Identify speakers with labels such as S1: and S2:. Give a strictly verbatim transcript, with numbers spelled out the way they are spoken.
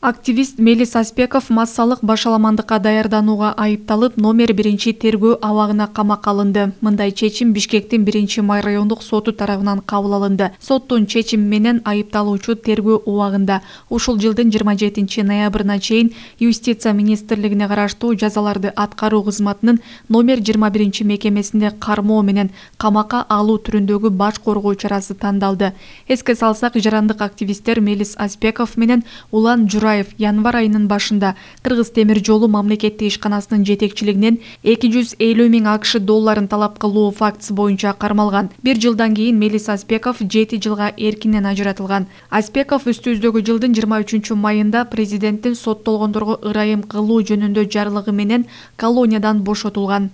S1: Активист Мелис Аспеков массалык башаламандыкка даярданууга айыпталып, номер биринчи тергөө абагына камакка алынды. Мындай чечим Бишкектин биринчи май райондук соту тарабынан кабыл алынды. Соттун чечими менен айыпталуучу тергөө убагында ушул жылдын жыйырма жетинчи ноябрына чейин Юстиция министрлигине караштуу жазаларды аткаруу кызматынын номер жыйырма биринчи мекемесинде кармоо менен камакка алуу түрүндөгү баш коргоо чарасы тандалды. Эске салсак, жарандык активисттер Мелис Аспеков менен Улан Жураев январь айынын башында Кыргыз темир жолу мамлекеттик ишканасынын жетекчилигинен эки жүз элүү миң АКШ долларын талап кылуу фактысы боюнча кармалган. Бир жылдан кийин Мелис Аспеков жети жылга эркинен ажыратылган. Аспеков үстүбүздөгү жылдын жыйырма үчүнчү майында президенттин соттолгондорго ырайым кылуу жөнүндө жарлыгы менен колониядан бошотулган.